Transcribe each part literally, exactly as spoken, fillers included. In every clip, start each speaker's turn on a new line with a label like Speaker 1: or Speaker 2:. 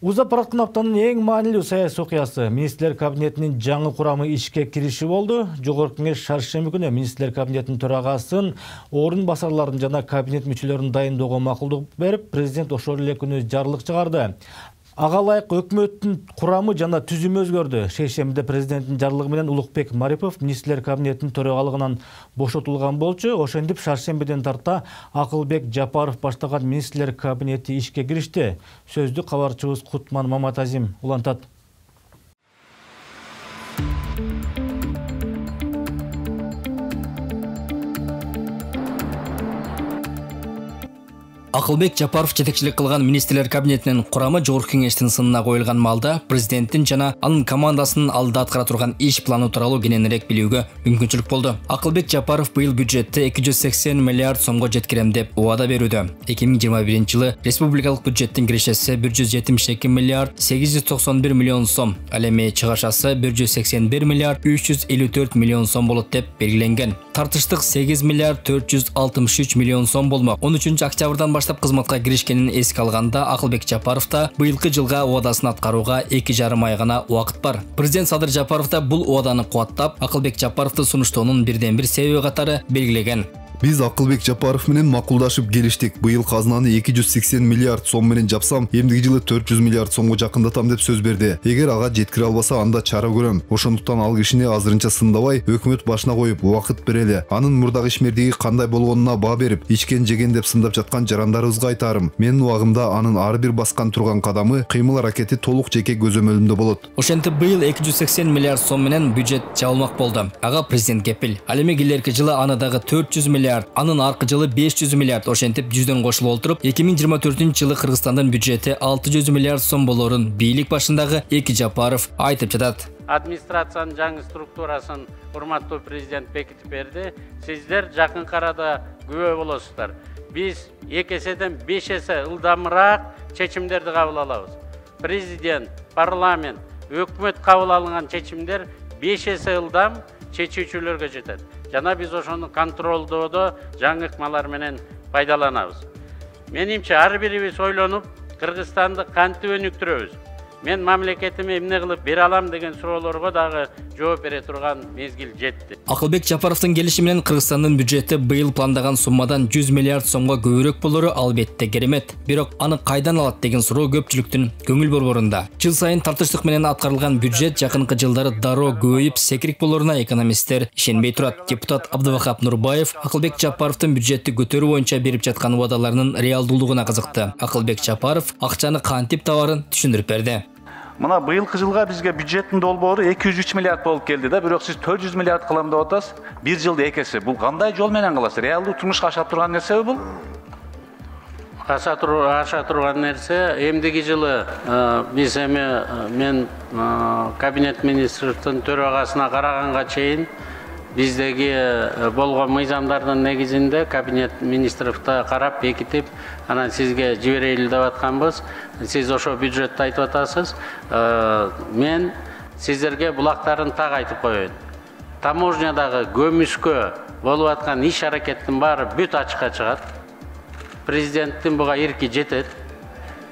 Speaker 1: Узап бараткан аптанын эң маанилүү саясий окуясы министрлер кабинетинин жаңы курамы ишке кириши болду. Жогорку кеңеш шаршемби күнү министрлер кабинетинин төрагасын, орун басарларын жана кабинет мүчөлөрүн дайындоого макулдук берип, президент ошол эле күнү жарлык чыгарды. Ага ылайык өкмөттүн курамы жана түзүмү өзгөрдү. Шейшембиде президенттин жарлыгы менен Улукбек Марипов министрлер кабинетинин төрагалыгынан бошотулган болчу. Ошентип шаршембиден тарта Акылбек Жапаров баштаган министрлер кабинети ишке киришти. Сөздү кабарчыбыз Кутман Маматазим улантат.
Speaker 2: Акылбек Жапаров жетекчилик кылган министрлер кабинетинин курамы жогорку кеңештин сынына коюлган маалда президенттин жана анын командасынын алдыда аткара турган иш планы тууралуу кененирээк билүүгө мүмкүнчүлүк болду. Акылбек Жапаров быйыл бюджетти эки жүз сексен миллиард сомго жеткирем деп убада берүүдө. эки миң жыйырма биринчи жылы республикалык бюджеттин кирешеси бир жүз жетимиш эки миллиард сегиз жүз токсон бир миллион сом, ал эми чыгашасы бир жүз сексен бир миллиард үч жүз элүү төрт миллион сом болот деп белгиленген. Тартыштык сегиз миллиард төрт жүз алтымыш үч миллион сом болмок. он үчүнчү октябрдан баштап кызматка киришкенин эске алганда Акылбек Жапаровда быйылкы жылга убадасын аткарууга эки жарым ай гана убакыт бар. Президент Садыр Жапаров да бул убаданы кубаттап, Акылбек Жапаровду сунуштоонун бирден бир себеби катары белгилеген.
Speaker 3: Биз Акылбек Жапаров менен макулдашып келиштик. Быйыл казынаны эки жүз сексен миллиард сом менен жапсам, эмдиги жылы төрт жүз миллиард сомго жакындатам деп сөз берди. Эгер ага жеткире албаса, анда чара көрөм. Ошондуктан ал кишини азырынча сындабай, өкмөт башына коюп убакыт берели. Анын мурдагы ишмердиги кандай болгонуна баа берип, ичкен жеген деп сындап жаткан жарандарыбызга айтарым. Менин убагымда анын ар бир баскан турган кадамы, кыймыл аракети толук жеке көзөмөлүмдө болот.
Speaker 2: Ошентип быйыл эки жүз сексен миллиард сом менен бюджет жабылмак болду. Ага президент кепил. Ал эми келерки жылы аны дагы төрт жүз миллиард, анын аркы жылы беш жүз миллиард ошентип жүздөн кошулуп олтуруп, эки миң жыйырма төртүнчү жылы Кыргызстандын бюджети алты жүз миллиард сом болорун бийлик башындагы Эки Жапаров айтып жатат.
Speaker 4: Администрациянын жаңы структурасын урматтуу президент бекитип берди. Сиздер жакын арада күбө болосуздар. Биз эки эседен беш эсе ылдамыраак чечимдерди кабыл алабыз. Президент, парламент, өкмөт кабыл алган чечимдер беш эсе ылдам чечүүчүлөргө жетет. Жана биз ошону контролдоодо жаңы ыкмалар менен пайдаланабыз. Менимче ар бирибиз ойлонуп, Кыргызстанды кантип өнүктүрөбүз? Мен мамлекетиме эмне кылып бере алам деген суроолорго дагы жооп бере турган мезгил жетти.
Speaker 2: Акылбек Жапаровдун келиши менен Кыргызстандын бюджети быйыл пландаган суммадан жүз миллиард сомго көбүрөөк болору албетте керемет. Бирок аны кайдан алат деген суроо көпчүлүктүн көңүл борборунда. Жыл сайын тартыштык менен аткарылган бюджет жакынкы жылдары дароо көбөйүп, секирик болоруна экономисттер ишенбей турат. Депутат Абдывахап Нурбаев Акылбек Жапаровдун бюджетти көтөрүү боюнча берип жаткан убадаларынын реалдуулугуна кызыкты. Акылбек Жапаров акчаны кантип табарын түшүндүрүп берди.
Speaker 5: Мына быйылкы жылга бизге бюджеттин долбоору эки жүз үч миллиард болуп келди да, бирок сиз төрт жүз миллиард кылам деп атасыз. Бир жылда эки эсе. Бул кандай жол менен кыласыз? Реалдуу турмушка аша турган нерсеби бул?
Speaker 4: Аша турган нерсе. Эмдиги жылы биз эми мен кабинет министрликтин төрагасына караганга чейин биздеги болгон мыйзамдардын негизинде кабинет министрликте карап бекитип, анан сизге жиберели деп атканбыз. Сиз ошо бюджетти айтып атасыз. Мен сиздерге булактарын так айтып коеюн. Таможнядагы көмүскө болуп аткан иш аракеттин баары бүт ачыкка чыгат. Президенттин буга ирки жетет.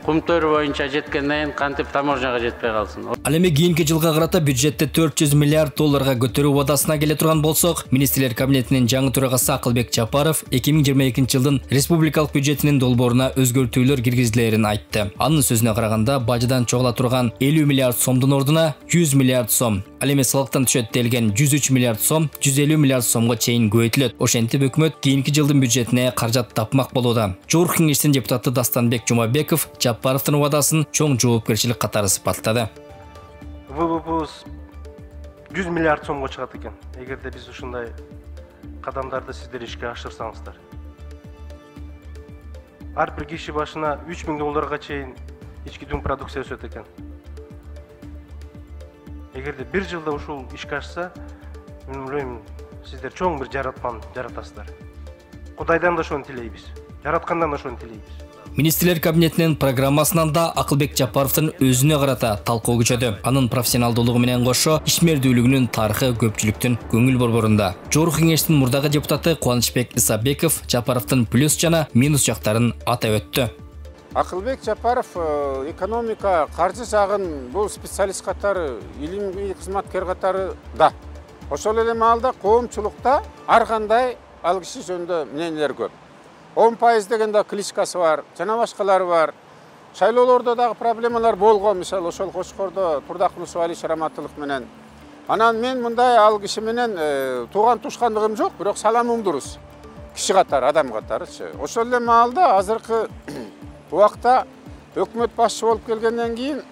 Speaker 4: Кумтөр боюнча жеткенден кийин кантип таможняга жетпей калсын.
Speaker 2: Ал эми кийинки жылга карата бюджетти төрт жүз миллиард долларга көтөрүү убадасына келе турган болсок, министрлер кабинетинин жаңы төрагасы Акылбек Жапаров эки миң жыйырма экинчи жылдын республикалык бюджетинин долбооруна өзгөртүүлөр киргизилерин айтты. Анын сөзүнө караганда, бажыдан чогула турган элүү миллиард сомдун ордуна жүз миллиард сом, ал эми салыктан түшөт делген жүз үч миллиард сом жүз элүү миллиард сомго чейин көбөйтүлөт. Ошентип өкмөт кийинки жылдын бюджетине каражат тапмак болууда. Жогорку кеңештин депутаты Дастанбек Жумабеков Жапаровдун убадасын чоң жоопкерчилик катары сыпаттады.
Speaker 6: ВВПбыз жүз миллиард сомго чыгат экен. Эгерде биз ушундай кадамдарды сиздер ишке ашырсаңыздар. Ар бир киши башына үч миң долларга чейин ички дүң продукция өсөт экен. Эгерде бир жылда ушул ишке ашса, мен ойлойм, сиздер чоң бир жаратманы жаратасыздар. Кудайдан да ошону тилейбиз. Жараткандан да ошону тилейбиз.
Speaker 2: Министрлер кабинетинин программасынан да Акылбек Жапаровдун өзүнө карата талкуу күчөдү. Анын профессионалдуулугу менен кошо ишмердүүлүгүнүн тарыхы көпчүлүктүн көңүл борборунда. Жогорку кеңештин мурдагы депутаты Кубанычбек Исабеков Жапаровдун плюс жана минус жактарын атап өттү.
Speaker 7: Акылбек Жапаров экономика, каржы жагын бул специалист катары, илимий кызматкер катары да. Ошол эле маалда коомчулукта ар кандай ал киши жөнүндө мнениелер көп. он пайыз деген да кличкасы бар, жана башкалары бар. Шайлоолордо дагы проблемалар болгон, мисалы ошол Кошкордо Турдакулов Али Шараматылык менен. Анан мен мындай ал киши менен тууган тушкандыгым жок, бирок саламым дурус. Киши катары, адам катарычы. Ошол эле маалда азыркы убакта өкмөт башчы болуп келгенден кийин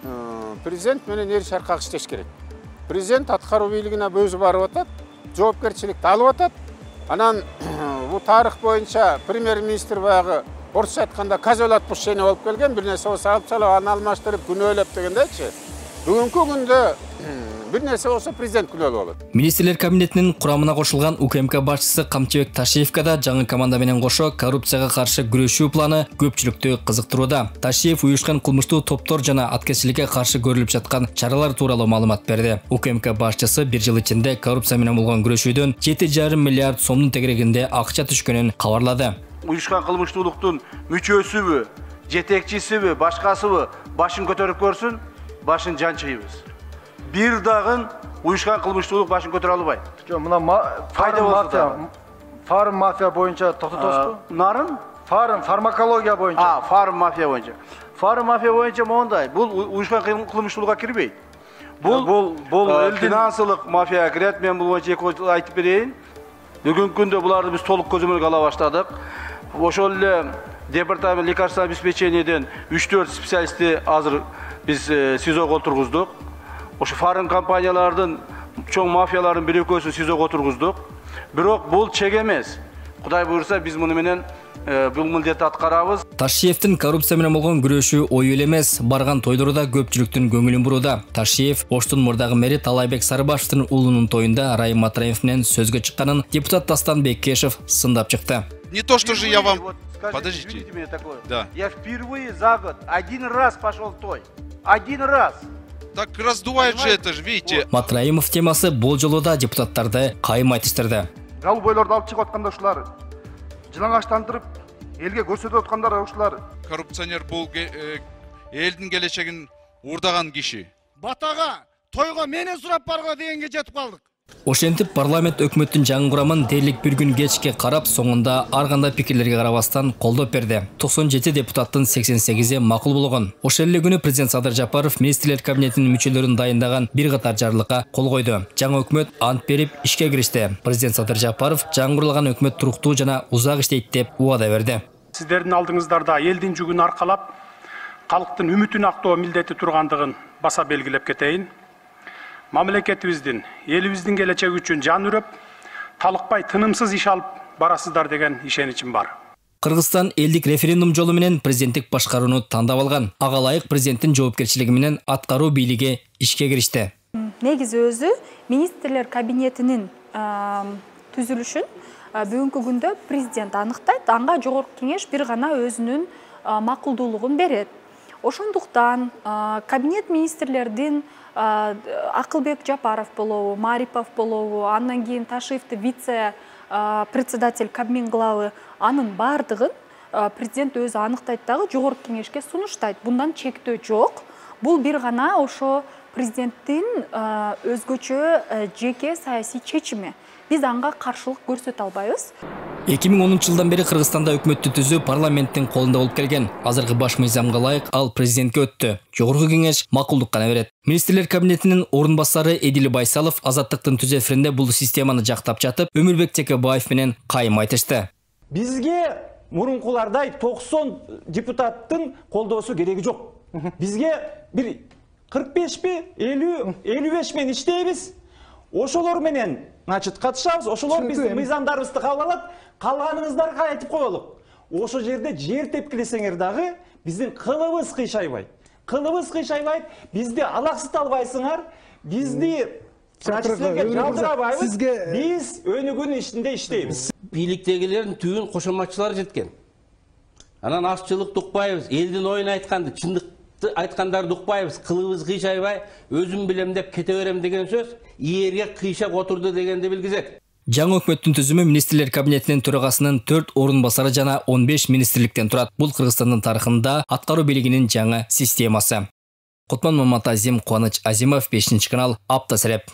Speaker 7: президент менен эр чаркак иштеш керек. Президент аткаруу бийлигине өзү барып атат, жоопкерчиликти алып атат. Анан бул тарых боюнча премьер-министр баягы орусча айтканда козел отпущения болуп келген, бир нерсе болсо алып салып, аны алмаштырып күнөөлөп дегендейчи. Бүгүнкү күндө бир нерсе болсо президент күнөөлүү болот.
Speaker 2: Министрлер кабинетинин курамына кошулган УКМК башчысы Камчыбек Ташиевка да жаңы команда менен кошо коррупцияга каршы күрөшүү планы көпчүлүктү кызыктырууда. Ташиев уюшкан кылмыштуу топтор жана аткезчиликке каршы көрүлүп жаткан чаралар тууралуу маалымат берди. УКМК башчысы бир жыл ичинде коррупция менен болгон күрөшүүдөн жети жарым миллиард сомдун тегерегинде акча түшкөнүн кабарлады.
Speaker 8: Уюшкан кылмыштуулуктун мүчөсүбү, жетекчисиби, башкасыбы башын көтөрүп көрсүн, башын жанчыйбыз. Бир дагы уюшкан кылмыштуулук башын көтөрө албайт.
Speaker 9: Жок, мына файда мафия, фарм мафия боюнча токтотосузбу?
Speaker 8: Нарын?
Speaker 9: Фарм, фармакология боюнча.
Speaker 8: А, фарм мафия боюнча. Фарм мафия боюнча мондай, бул уюшкан кылмыштуулукка кирбейт. Бул бул бул финансылык мафияга кирет. Мен бул боюнча эки айтып берейин. Бүгүнкү күндө буларды биз толук көзөмөлгө ала баштадык. Ошол эле департамент лекарственного обеспечениеден үч төрт специалистти азыр биз СИЗОго отургуздук. Ошо фарм компаниялардын чоң мафиялардын бир экөөсүн СИЗОго отургуздук. Бирок бул чек эмес. Кудай буйрса биз муну менен бул милдетти аткарабыз.
Speaker 2: Ташиевдин коррупция менен болгон күрөшүү ою эле эмес, барган тойлордо көпчүлүктүн көңүлүн бурууда. Ташиев Оштун мурдагы мэри Талайбек Сарыбашевдин уулунун тоюнда Райым Матраев менен сөзгө чыкканын депутат Дастан Беккешев сындап чыкты.
Speaker 10: Не то, что же я вам...
Speaker 8: Вот, скажите,
Speaker 10: Подождите.
Speaker 8: Мне такое.
Speaker 10: Да.
Speaker 8: Я впервые за год один раз пошел в той. Один раз.
Speaker 10: Так раздувает же это же, видите.
Speaker 2: Матраимов темасы бул жолу да депутаттарды кайым айтыштырды.
Speaker 9: Галуу бойлорду алып чыгып атканда ушулар жылаңачтандырып, элге көрсөтүп аткандар ушулар.
Speaker 10: Коррупционер бул элдин келечегин уурдаган киши.
Speaker 11: Батага, тойго менен сурап барго дегенге жетип калдык.
Speaker 2: Ошентип парламент өкмөттүн жаңы курамын дээрлик бир күн кечке карап, соңунда ар кандай пикирлерге карабастан колдоп берди. токсон жети депутаттын сексен сегизи макул болгон. Ошол эле күнү президент Садыр Жапаров министрлер кабинетинин мүчөлөрүн дайындаган бир катар жарлыкка кол койду. Жаңы өкмөт ант берип ишке киришти. Президент Садыр Жапаров жаңы курулган өкмөт туруктуу жана узак иштейт деп убада берди.
Speaker 12: Сиздердин алдыңыздарда элдин жүгүн аркалап, калктын үмүтүн актоо милдети тургандыгын баса белгилеп кетейин. Мамлекетибиздин, элибиздин келечеги үчүн жан үрөп, талыкпай тынымсыз иш алып барасыздар деген ишеничим бар.
Speaker 2: Кыргызстан элдик референдум жолу менен президенттик башкарууну тандап алган. Ага ылайык президенттин жоопкерчилиги менен аткаруу бийлиги ишке киришти.
Speaker 13: Негизи өзү министрлер кабинетинин түзүлүшүн бүгүнкү күндө президент аныктайт, анга жогорку кеңеш бир гана өзүнүн макулдуулугун берет. Ошондуктан кабинет министрлердин Акылбек Жапаров болобу, Марипов болобу, андан кийин Ташиевди вице председатель Кабмин главы, анын бардыгын президент өзү аныктайт дагы жогорку кеңешке сунуштайт. Bundan чектөө жок. Бул бир гана ошо президенттин өзгөчө жеке саясий чечими. Биз анга каршылык көрсөтө албайбыз.
Speaker 2: эки миң онунчу жылдан бери Кыргызстанда өкмөттү түзүү парламенттин колунда болуп келген. Азыркы баш мыйзамга ылайык ал президентке өттү. Жогорку кеңеш макулдук гана берет. Министрлер кабинетинин орун басары Эдил Байсалов Азаттыктын түз эфиринде бул системаны жактап жатып, Өмүрбек Текебаев менен кайым айтышты.
Speaker 14: Бизге мурункулардай токсон депутаттын колдоосу кереги жок. Бизге бир кырк бешпи, элүү, элүү беш менен иштейбиз. Ошолор менен значит катышабыз, ошолор биздин мыйзамдарыбызды кабыл алат. Калганыңыздарга айтып коелук. Ошо жерде жер тепкилесеңер дагы биздин кылыбыз кыйшайбайт. Кылыбыз кыйшайбайт, бизди алаксыта албайсыңар. Бизди силерге жалтырабайбыз. Биз өнүгүүнүн ичинде иштейбиз.
Speaker 15: Бийликтегилердин түбүн кошоматчылар жеткен. Анан ашчылыкты укпайбыз, элдин оюн айтканды, чындыкты айткандарды укпайбыз, кылыбыз кыйшайбай, өзүм билем деп кете берем деген сөз ийерге кыйшап отурду дегенди билгизет.
Speaker 2: Жаңы өкмөттүн түзүмү министрлер кабинетинин төрагасынын төрт орун басары жана он беш министрликтен турат. Бул Кыргызстандын тарыхында аткаруу бийлигинин жаңы системасы. Кутман Маматазим, Кубаныч Азимов, бешинчи канал, Апта Сереп.